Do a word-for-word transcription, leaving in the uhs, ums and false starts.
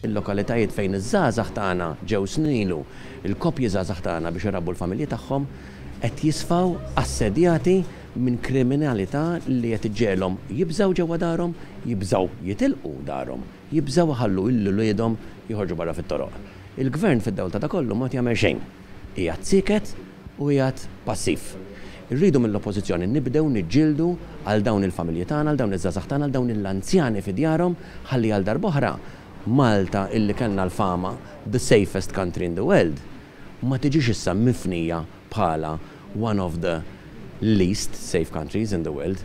Il-lokalitajiet fejn iż-żgħażagħ tagħna ġew snin ilu, il-koppji żgħażagħ tagħna biex irabbu l-familji tagħhom, qed jisfaw assedjati minn kriminalità li qed iġġegħelhom jibżgħu ġewwa darhom, jibżgħu jitilqu darhom, jibżgħu iħallu lil uliedhom joħorġu barra fit-toroq. Il-gvern fid-dawl ta' kollu ma jagħmel xejn. Qiegħed sieket u qiegħed passiv. Irridu mill-oppożizzjoni nibdew niġġieldu għal dawn il-familji tagħna, għal dawn iż-żgħażagħ tagħna, għal dawn l-anzjani fi djarhom, ħalli għal darb'oħra Malta, illi kellna l-fama the safest country in the world, ma tiġix issa mifnija bħala one of the least safe countries in the world.